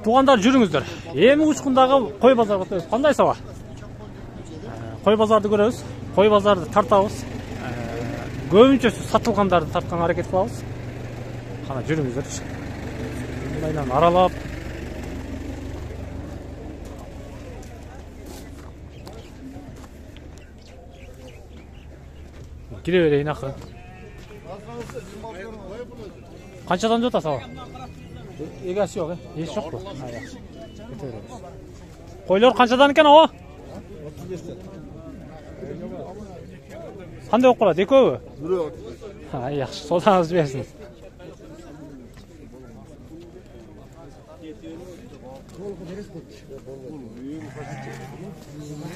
Туугандар жүрүңүздөр. Эми учкундагы кой базарга өтөбүз. Кандай саба? Кой базарды көрөбүз. Кой базарды тартабыз. Көбүнчөсү сатылгандарды тартканга аракет кылабыз. Кана жүрүңүздөр. Мындайлан аралап. Кире берейин акырын. Канчадан жота саба? Эгасы жок, Эч жокпу? Койлор канчадан экен ого? 35тен. Кандай болуп калат? Экөөбү? Бирөө. Жакшы, содаңыз берсин.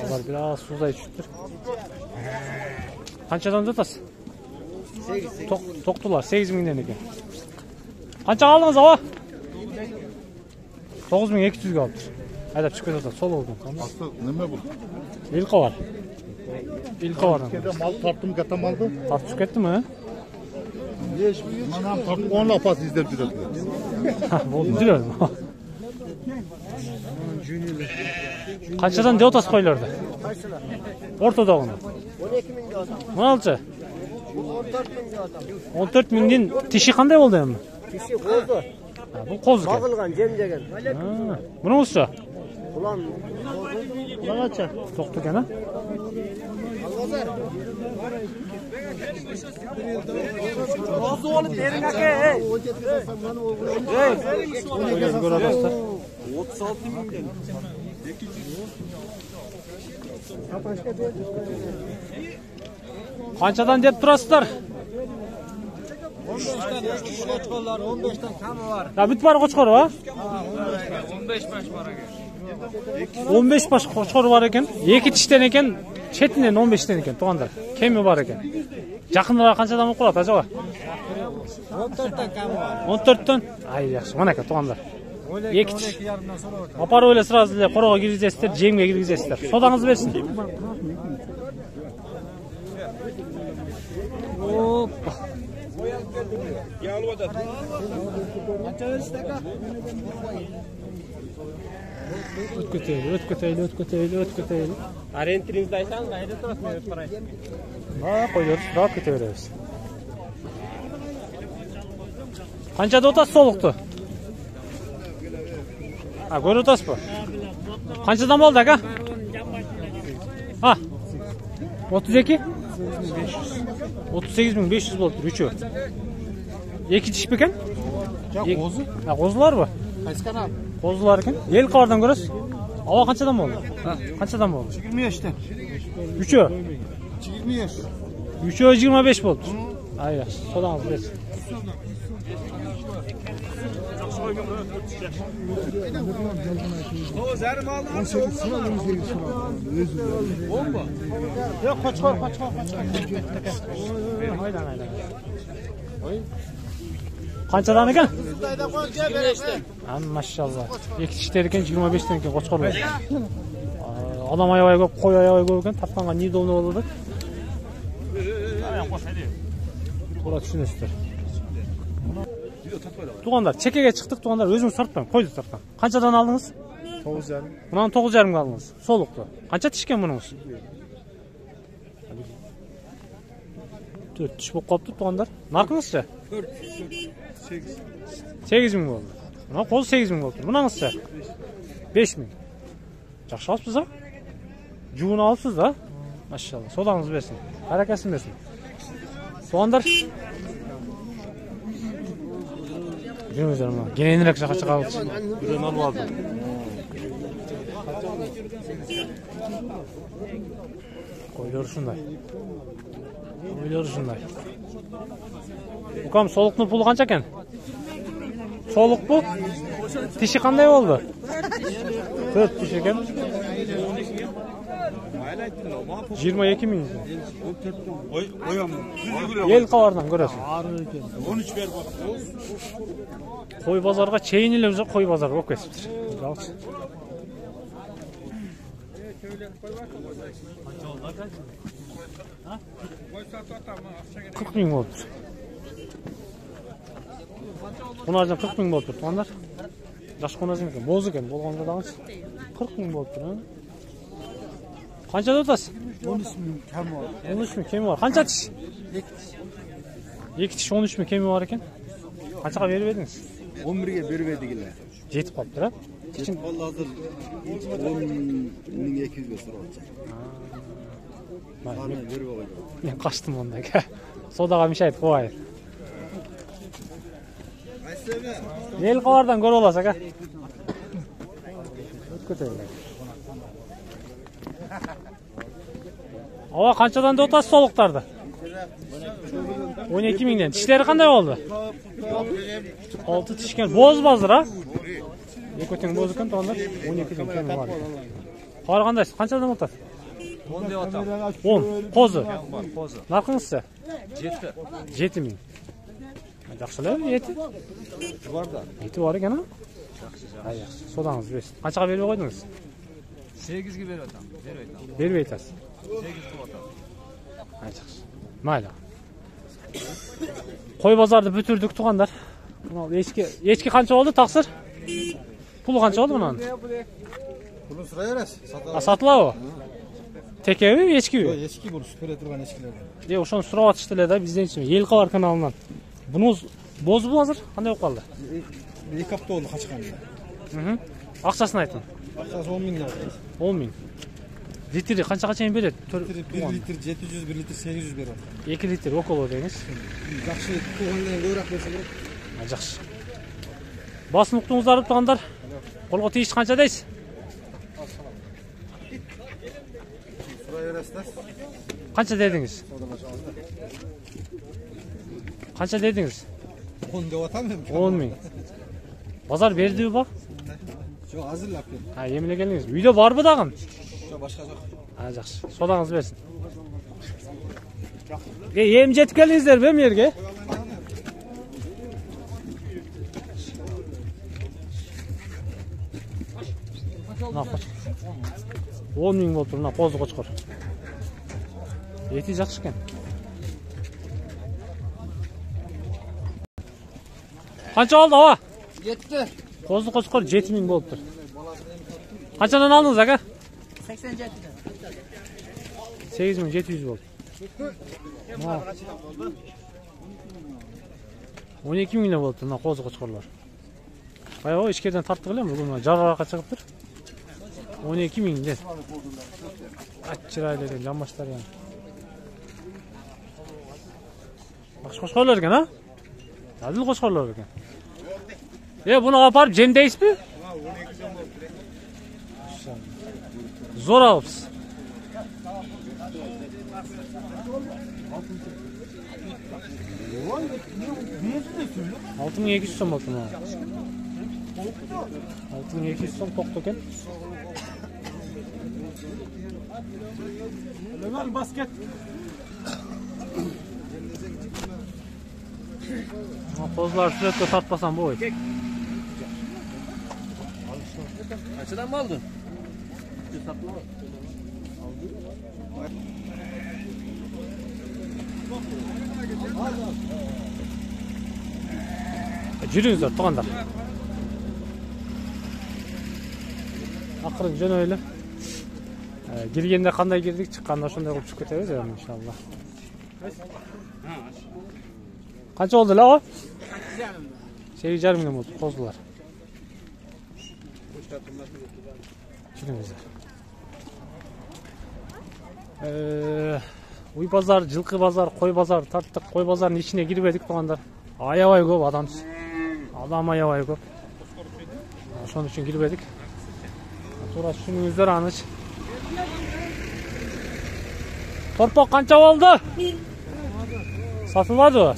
Алар бир аз суздай түшүптүр. Канчадан жатасыз? 8. Токтулар 8000ден экен. Канчага алдыңыз ага? 9200ге алыптыр. Айдап чыгып кетип атат, сол болду. Асты неме бул? Илка бар. Илка бар. Кеде мал тарттым, ката малды. Тартып кеттиме? Манам тартып 10 лапас издеп жүрөт. Болду, жүрөм. Канчадан деп атасыз койлорду? Ортодогуну. 12000 атам. Мыналчы? 14000 атам. 14000дин тиши кандай болду эми? Киши козу. Бул коз экен. Багылган, жемдеген. Мунуңузчу? Улам Багача. Токту экен, а? Козу болуп бериң аке. Эй. Көрө атасыздар. 36000 Канчадан деп турасыздар? 15тен камы бар. Бүт бар кочкору, а? 15 баш бар экен. 15 баш кочкору бар экен. Эки тиштен экен, четинен 15тен экен, туугандар. Кеми бар экен. Жакындыраак канчадан болуп калат, ажаба? 14тен камы бар. 14төн? Жакшы, мынакей туугандар. Эки тиш. Апарып эле сразу эле корого киргизесиздер, жемге киргизесиздер. Содаңыз берсин. Опа. Өткөтөйлү. Ориентириңизди айтсаңыз, кайда турасыз, мен өтүп барайын. Койлорду сурап кете беребиз. Канча деп атасыз солукту? Көрүп атасызбы? Канчадан болду ака? 32? 38500 болду, үчөө. Эки тиш бекен? Жок, козу. Козуларбы? Кайсы канал? Козулар экен. Эл кабардан көрөсүз? Аба канчадан болду? Канчадан болду? 25тен. Үчөө? 25. Үчөө 25 болду. Жакшы, содаңыз берсин. Канчадан экен? Машалла. Эки тиштер экен, 25тен экен кочкорлор. Адам аябай көп, кой аябай көп экен, тапканга неудобно болду да. Туура түшүнөсүздөр. Туугандар, чекеге чыктык, туугандар, өзүңүз тартпаң, койду тарткан. Канчадан алдыңыз? 9,5. Мунан 9,5 алдыңыз. Солукту. Канча тишкен мунуңуз? 4 тиш болуп калыптыр, туугандар. Наркыңызчы? 8000 болду. Мына коз 8000 болуптур. Мунаңызчы? 5000. Жакшы алыпсыз, а? Жуун алыпсыз да? Машалла. Содаңыз берсин. Баракасын берсин. Туугандар, жүрүңүздөр мына. Кененирээк жака чыгабыз. Бирөөнү алып алдым. Койлор ушундай. Укам, солуктун пулу канча экен? Солукпу? Тиши кандай болду? 4 тиш экен. 22000. Эл кабардан көрөсүң. 13 берип атат. Кой базарга чейин эле уже кой базар болуп кетиптир. Жалчы. 40 000 болуптур. Мына жерден 40 000 болуптур, туугандар. Жаш конозун экен, боз экен, болгондо дагычы 40 000 болуптур. Канча деп атасыз? 13 000 кем var. 13 000 кеми бар. Канча тиш? 2 тиш 13 000 кеми бар экен. Канчага берип едиңиз? 11'e berberdik эле. Жетип калыптыр, а? Кичин болду азыр 10.200 сурап. Баны берип койдум. Мен качтым онда. Содага мешайт кобайын. Эл кабардан көрүп аласыз, ака. Өткөтөйлөр. Ава канчадан деп атасыз солуктарды? 12 000ден. Тиштери кандай болду? 6 тишкен. Боз базыр, а? Экөтең боз экен, тоондар 12 000 кеми бар. Кабар кандайсыз? Канчадан деп атасыз? 10 деп атам. 10. Козу. Козу. Наркыңызчы? 7. 7 000. Жакшы эле, эти. Бар да. Эти бар экен, а? Жакшы. Содаңыз берсин. Канчага берип койдуңуз? 8ге берип атам. Бербей атам. Бербей атасыз. 8 деп атам. Жакшы. Майда. Кой базарды бүтүрдүк тугандар. Мына эчки канча болду, таксыр? Пулу канча болду мунун? Bunu sıraya verəs. Сатылабы? Текеби, эчкиби? Eski bu süpere turgan eskilerden. Ошону сурап атышты эле да бизденчи. Эл кабар каналынан. Бунуз бозбу азыр? Кандай болуп калды? 2 hafta oldu kaçkan. Акчасын айтың. Akçası 10 bin lira. 10 000. Литри канчага чейин берет? 1 litr 700, 1 litr 800 берет. 2 литр около деңиз. Жақсы туғандан көбірек берсе керек. Жакшы. Басын уктуңуздар тугандар. Колго тийиш канча дейсиз? Сұрай бересіздер. Канча дедиңиз? Канча дедиңиз? 10 деп атам мен. 10 000. Базар бердиби ба? Жоқ, азырлап кел. Эмне келдиңиз? Үйдө барбы дагы? Жоқ, башка жоқ. Жакшы. Содаңыз берсин. Эми жетип келдиңиздерби эми жерге? Мына 10 000 болуптур, мына козу кочкор. Эти жакшы экен. Канча болду, ава? 7. Козу кочкор 7 000 болуптур. Канчадан алдыңыз, ака? 87. 8700 болду. 12 000 болуптур мына козу кочкорлор. Баягы ичкерден тарттык элем, бүгүн жарыга чыгыптыр. 12 000 де. Аччырайлы экен, жамбаштар экен. Башка кочкорлор экен, а? Адыл кочкорлор экен. Буну апарып жемдейсизби? Зор алыпсыз. $6200 сом болду мына. 6200 сом токту экен. Lan basket. Козулар сүрөткө тартпасам болбойт. Kaçıdan mı aldın? Жүрүңүздөр тугандар. Акырын жөнөйлү. Келгенде кандай кирдик, чыкканда ошондой кылып чыгып кетебиз иншалла. Канча болду эле о? 8,5 миң болду козулар. Жүрүңүздөр. Уй базар, жылкы базар, кой базар тарттык. Кой базарынын ичине кирбедик тугандар. Аябай көп адам. Адам аябай көп. Ошон үчүн кирбедик. Туура түшүнүңүздөр аныч. Торпок канча болду? Сатылбадыбы?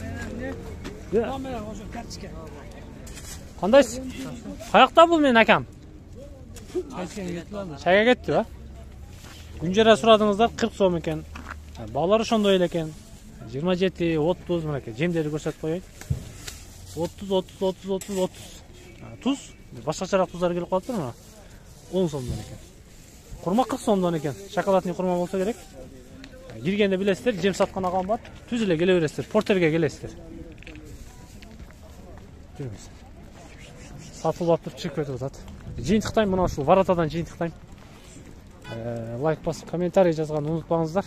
Кандайсыз? Каякта бул менин акам? Чайга кетти ба? Күнжара сурадыңыздар 40 сом экен. Балар ошондой эле экен. 27, 30 мынакей жемдерди көрсөтүп коеюн. 30. Туз, башкачараак туздар келип калыптыр мына. 10 сомдон экен. Курма 40 сомдон экен. Шоколадный курма болсо керек. Киргенде билесиздер, жем саткан агам бар. Түз эле келе бересиздер, портерге келесиздер. Жүрүңүз. сатылып алып туруп чыгып кетип атат. Жыйынтыктайм, мына ушул воротадан жыйынтыктайм. Лайк басып, комментарий жазганды унутпаңыздар.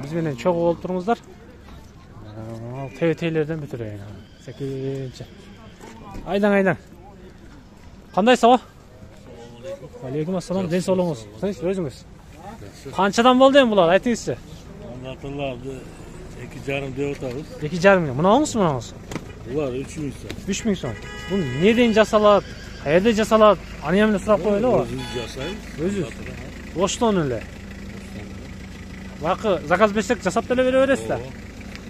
Биз менен чогуу болуп туруңуздар. Ал ТВ-лерден бүтүрөйүн. Секинчи. Айдаң. Кандай сабак? Алейкум ассалам. Ден соолугуңуз. Өзүңүз. Канчадан болду эми булар? Айтыңызчы. Аталарды 2,5 деп атабыз. 2,5 миң. Мунаңыз? Булар 3,000 сом. 3,000 сом. Бул неден жасалат? Каерде жасалат? Аны эмне сурап коелу? Өзүбүз жасайбыз. Өзүбүз. Оштон эле. Бакы заказ берсек жасап деле бере бересиз да.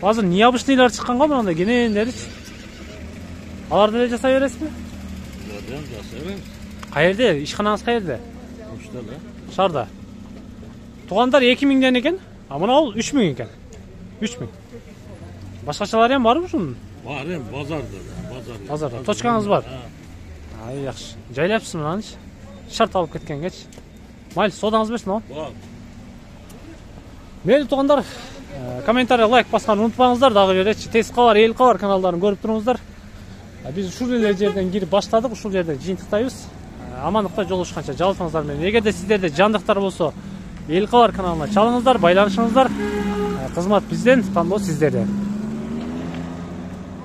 Азыр необычныйлар чыккан го мындай кенендеричи. Аларды деле жасай бересизби? Булардан жасайбыз. Каерде? Ишканаңыз каерде? Ошто эле. Шарда. Тугандар 2,000ден экен, а мына бул 3,000 экен. 3,000. Башкачалары ham барбы ушунун? Бар эми базарда. Базарда. Точкаңыз бар. Ай, жакшы. Жайлапсыз мынанычы. Шарт алып кеткенгечи. Майли, содаңыз берсин о. Бар. Мейли тугандар, комментарий, лайк басканды унутпаңыздар. Дагы беречи Тез кабар, Эл кабар каналдарын көрүп туруңуздар. Биз ушул эле жерден кирип баштадык, ушул жерден жыйынтыктайбыз. Амандыкта жолугушканча жалпыңыздар менен. Эгерде сиздерде жандыктар болсо, Эл кабар каналына чалыңыздар, байланышыңыздар. Кызмат бизден, тандоо сиздерде.